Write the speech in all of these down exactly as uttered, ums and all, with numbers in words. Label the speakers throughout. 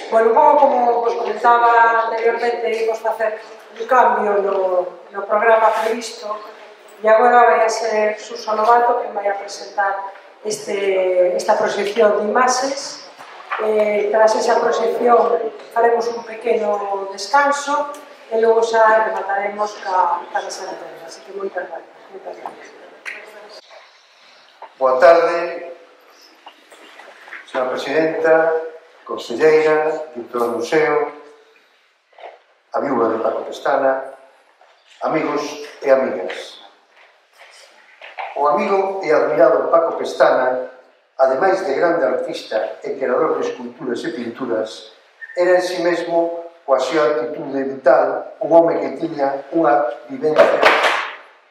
Speaker 1: Bueno, un pouco como vos comentaba anteriormente, imos facer un cambio no, no programa previsto e agora vai a ser Suso Novato que vai a presentar este, esta proxección de imaxes. Eh, tras esa proxección faremos un pequeno descanso e logo xa remataremos ca, ca mesa de terra. Así que moitas gracias. Moitas gracias.
Speaker 2: Boa tarde, señora Presidenta, conselleira, directora do museo, a viúva de Paco Pestana, amigos e amigas. O amigo e admirado Paco Pestana, ademais de grande artista e creador de esculturas e pinturas, era en si mesmo, coa súa actitude vital, un home que tiña unha vivencia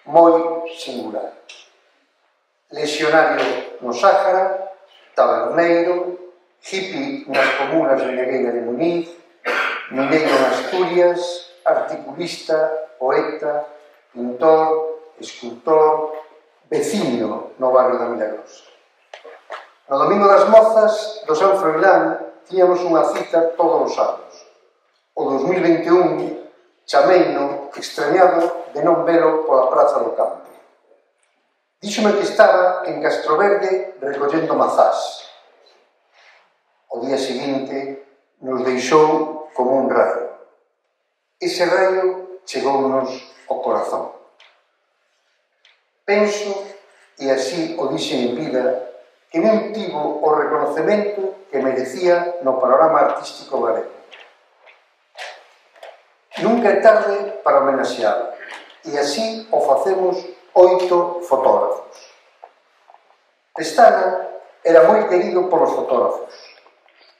Speaker 2: moi singular. Lesionario no Sáhara, taberneiro, hippie nas comunas de Negueira de Muniz, mineiro en Asturias, articulista, poeta, pintor, escultor, veciño no barrio da Milagrosa. No Domingo das Mozas do San Froilán tiñamos unha cita todos os anos. O dos mil vinte e un chameino extrañado de non velo pola Praza do Campo. Díxome que estaba en Castroverde recollendo mazás. O día seguinte nos deixou como un raio. Ese raio chegounos ao corazón. Penso, e así o dixen en vida, que non tivo o reconocemento que merecía no panorama artístico galego. Nunca é tarde para homenaxear, e así o facemos oito fotógrafos. Pestana era moi querido polos fotógrafos.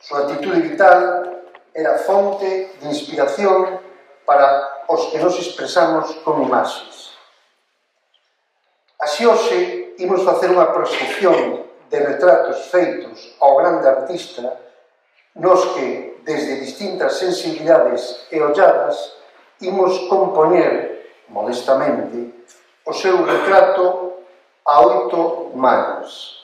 Speaker 2: Súa actitude vital era fonte de inspiración para os que nos expresamos con imaxes. Así hoxe imos facer unha proxección de retratos feitos ao grande artista nos que, desde distintas sensibilidades e olladas, imos compoñer, modestamente, o seu retrato a oito manos.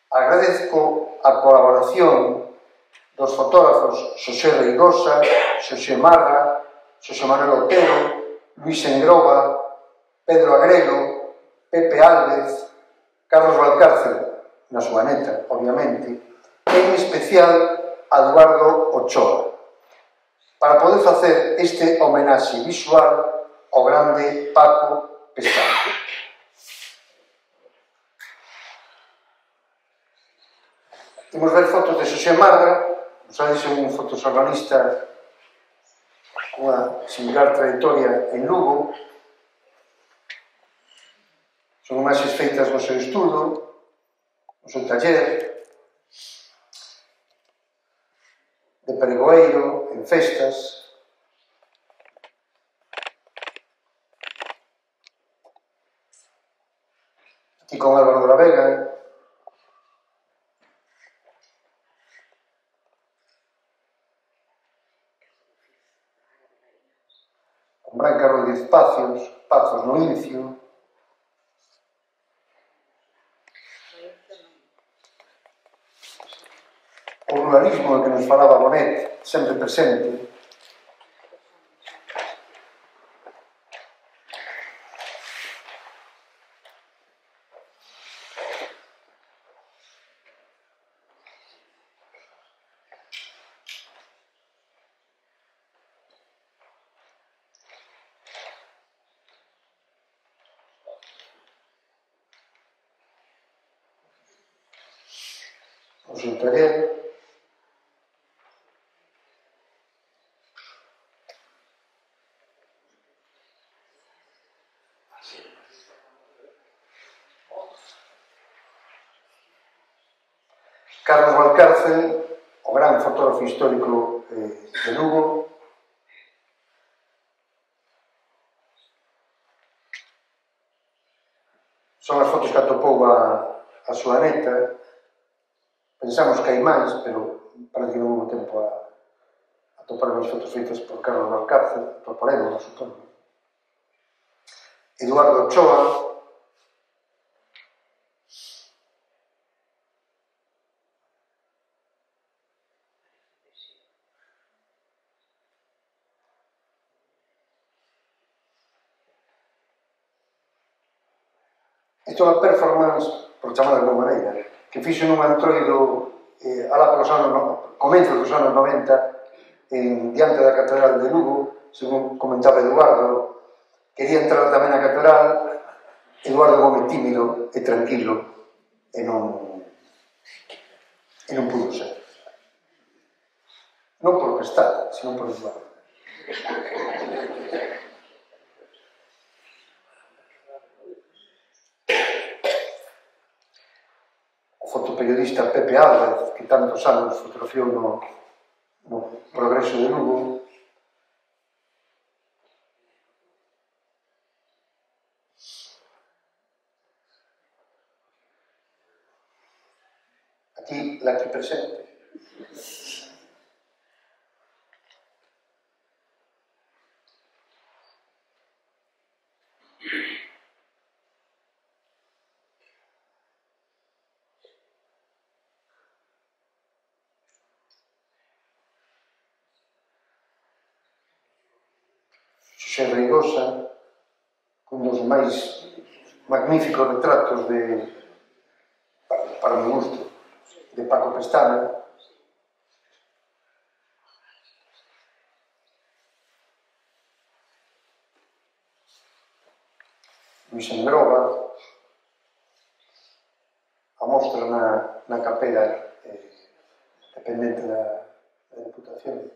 Speaker 2: Agradezco a colaboración dos fotógrafos Xosé Reigosa, Xosé Marra, Xosé Manuel Otero, Luís Engroba, Pedro Agrelo, Pepe Álvez, Carlos Valcárcel, na súa neta, obviamente, e en especial a Eduardo Ochoa, para poder facer este homenaxe visual ao grande Paco Pestana. Imos ver fotos de Xosé Marra, sabes, un fotoxornalista cunha singular trayectoria en Lugo. Son imaxes feitas no seu estudo, no seu taller, de pregoeiro, en festas. Aquí con Álvaro de la Vega. Con Branca Rodríguez Pazos, Pazos no Incio. O ruralismo do que nos falaba Bonet, sempre presente. O seu taller. Carlos Valcárcel, o gran fotógrafo histórico eh, de Lugo. Son as fotos que atopou a, a súa neta. Pensamos que hai máis, pero parece que non houve tempo a, a topar as fotos feitas por Carlos Valcárcel, por Poremos, supoño. Eduardo Ochoa. Isto é unha performance, por chamar de alguma maneira, que fixo nun antroido eh, alá polos anos, comenzos dos anos noventa, en diante da Catedral de Lugo, según comentaba Eduardo, quería entrar tamén na Catedral. Eduardo Gómez tímido e tranquilo e non e non pudo ser. Non por que está, senón por Eduardo. O fotoperiodista Pepe Álvarez, que tantos anos fotografiou no, no Progreso de Lugo, aquí, la aquí presente, Xosé Reigosa, un dos máis magníficos retratos de, para o meu gusto, de Paco Pestana. Luis Engroba, a mostra na, na capela eh, dependente da, da Deputación.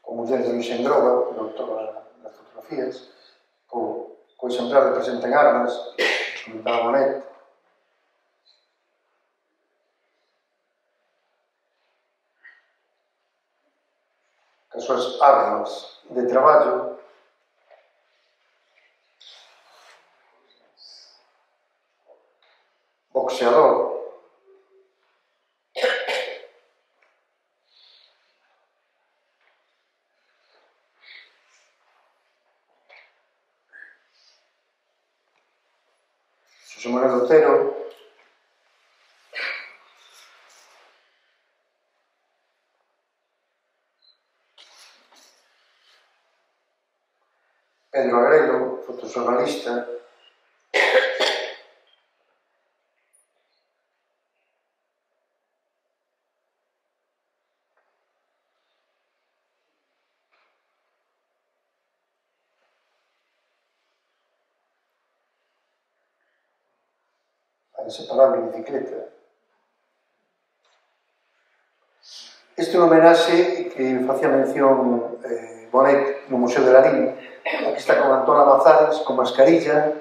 Speaker 2: O muller de Luis Engroba, doutor das fotografías, co, co exemplar de Presente en Armas, que comentaba Bonet. As súas armas de traballo, boxeador, Xosé Manuel Otero, Pedro Agrelo, fotoxornalista, a inseparable bicicleta. Este é un homenaxe que facía mención eh, Bonet no Museo de Larín. Aquí está con Antón Lamazares, con mascarilla,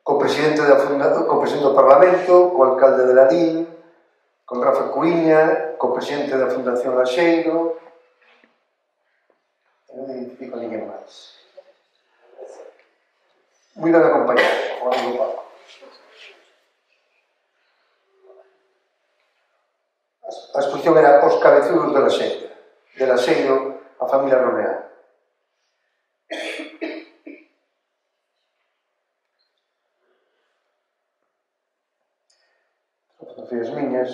Speaker 2: co presidente, da funda, co presidente do Parlamento, co alcalde de Larín, con Rafa Cuíña, co presidente da Fundación Laxeiro, e non identifico a ninguén máis. Moi ben acompañado, o amigo Paco. A exposición era Os cabezudos de Laxeiro, de Laxeiro a familia Romeá. Fotografías miñas.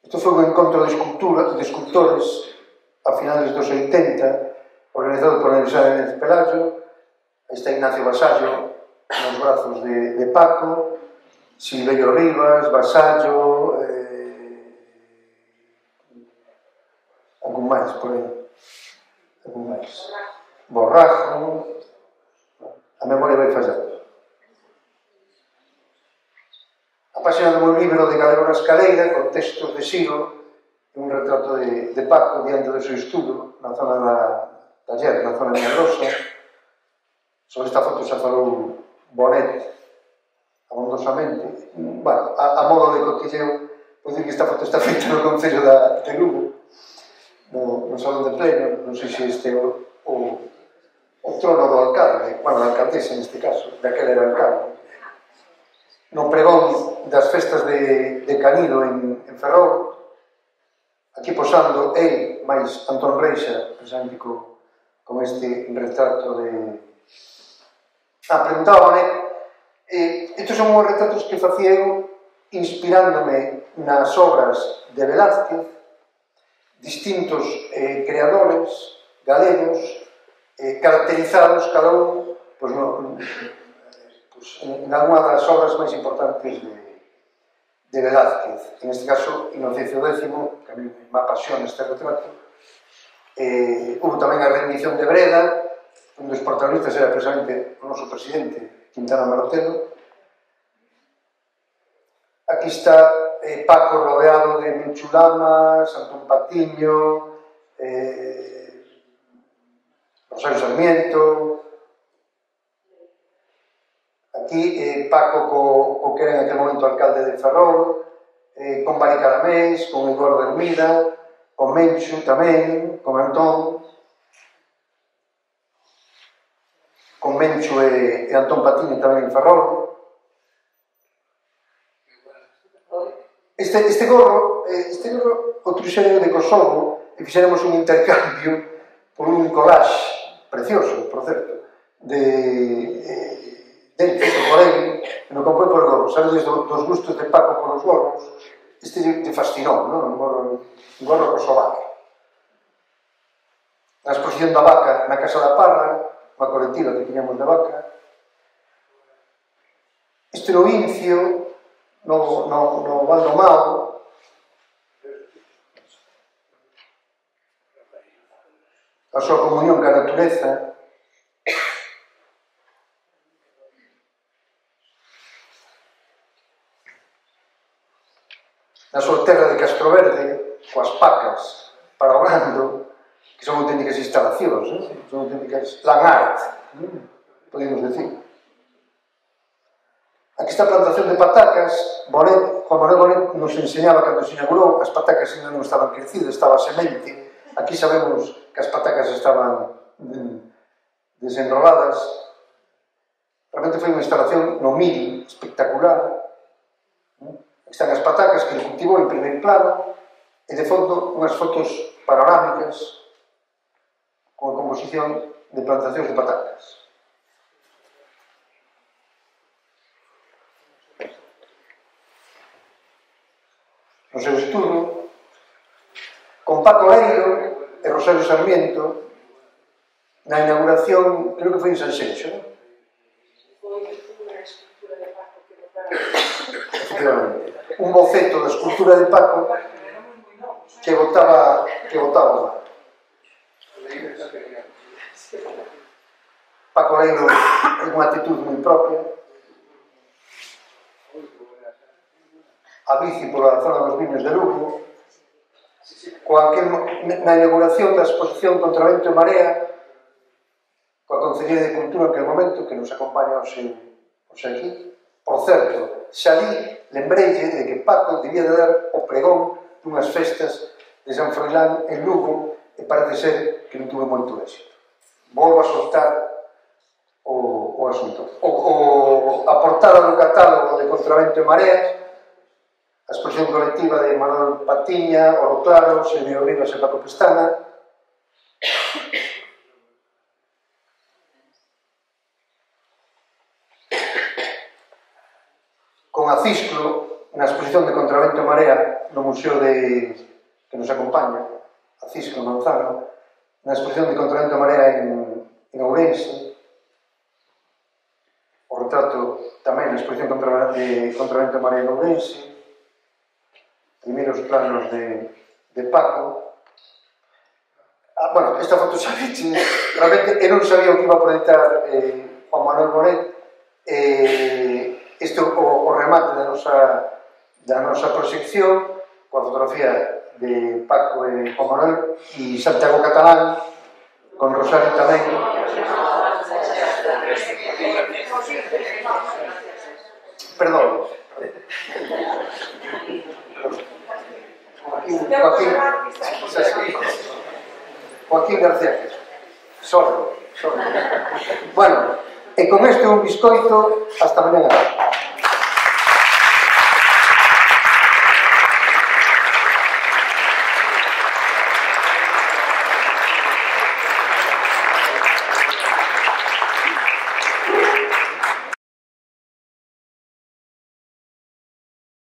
Speaker 2: Isto foi un encontro de escultura, de escultores a finales dos oitenta, organizado por a Universidade de Pelayo. Está Ignacio Vasallo nos brazos de, de Paco, Silverio Rivas, Vasallo, eh, algún máis por aí, algún máis, Borrajo, a memoria vai fallando. A página do meu libro de Galego na Escaleira, con textos de Xiro, un retrato de, de Paco diante do seu estudo, na zona da taller, na zona de Rosa. Sobre esta foto xa falou Bonet abondosamente. Bueno, a, a modo de cotilleo, vou dicir que esta foto está feita no Concello da, de Lugo, no, no Salón de Pleno. Non sei se este é o, o, o trono do alcalde, bueno, da alcaldesa neste caso, daquela era alcalde. No pregón das festas de, de Canido en, en Ferrol, aquí posando el máis Antón Reixa, precisamente co, con este retrato de... Ah, preguntaba, né? Eh, estes son os retratos que facía eu inspirándome nas obras de Velázquez, distintos eh, creadores galegos eh, caracterizados cada un pues, no, pues, en, en alguna das obras máis importantes de, de Velázquez. En este caso, Inocencio décimo, que a mí me apasiona este retrato. Eh, hubo tamén a rendición de Breda, un dos protagonistas era precisamente o noso presidente, Quintana Marotelo. Aquí está eh, Paco rodeado de Menchulamas, Antón Patiño, eh, Rosario Sarmiento. Aquí eh, Paco co, co que era en aquel momento alcalde de Ferrol, eh, con Bari Caramés, con Eduardo Hermida, con Menchu tamén, con Antón, con Menchu e, e Antón Patiño tamén en Ferrol. Este, este gorro, este gorro o truxeron de Kosovo e fixéramos un intercambio por un collage precioso, por certo, de, eh, del feito por ele, que non comprei por gorro. Sabedes do, dos gustos de Paco por os gorros? Este te fascinou, non? Un gorro, un gorro kosovar. Na exposición da vaca na Casa da Parra, unha colectiva que tiñamos de vaca. Este no Incio, no, no, no Valdomao, a súa comunión ca natureza. Na súa terra de Castroverde, coas pacas para o gando, que son auténticas instalacións, eh? Son auténticas land art, eh? podemos decir. Aquí está a plantación de patacas. Bonet, Juan Manuel Bonet nos enseñaba cando se inaugurou, as patacas ainda non estaban crecidas, estaba a semente. Aquí sabemos que as patacas estaban desenroladas. Realmente foi unha instalación no mil espectacular. Aquí están as patacas que ele cultivou en primeiro plano e de fondo unhas fotos panorámicas con a composición de plantacións de patacas. No seu estudo, con Paco Leiro e Rosario Sarmiento, na inauguración, creo que foi en Sanxenxo, non?
Speaker 1: Foi unha escultura de Paco que botaron.
Speaker 2: Efectivamente. Un boceto da escultura de Paco que botaba que botaba o mar. Paco Leiro é unha actitud moi propia. A bici pola zona dos viños de Lugo, coa que na inauguración da exposición Contra Vento e Marea, coa Consellería de Cultura en aquel momento, que nos acompaña hoxe, hoxe aquí. Por certo, xa ali lembreille de que Paco debía de dar o pregón dunhas festas de San Froilán en Lugo e parece ser que non tuve moito éxito. Volvo a soltar o, o asunto. O, o, a portada do catálogo de Contra Vento e Marea, a exposición colectiva de Manuel Patiña, Oro Claro, Xavier Rivas e Paco Pestana. Con a Cisclo, na exposición de Contravento e Marea, no museo de, que nos acompaña, a Cisclo Manzano, na exposición de Contravento e Marea en, en Ourense. O retrato tamén na exposición contra, de Contravento e Marea en Ourense. Primeiros planos de, de Paco. Ah, bueno, esta foto xa viche, realmente eu non sabía o que iba a proyectar eh, Juan Manuel Bonet. Eh, este o, o remate da nosa, da nosa proxección, coa fotografía de Paco e Juan Manuel e Santiago Catalán, con Rosario tamén. Perdón. Joaquín, Joaquín, Joaquín García, solo, solo. Bueno, e con este un biscoito, hasta mañana.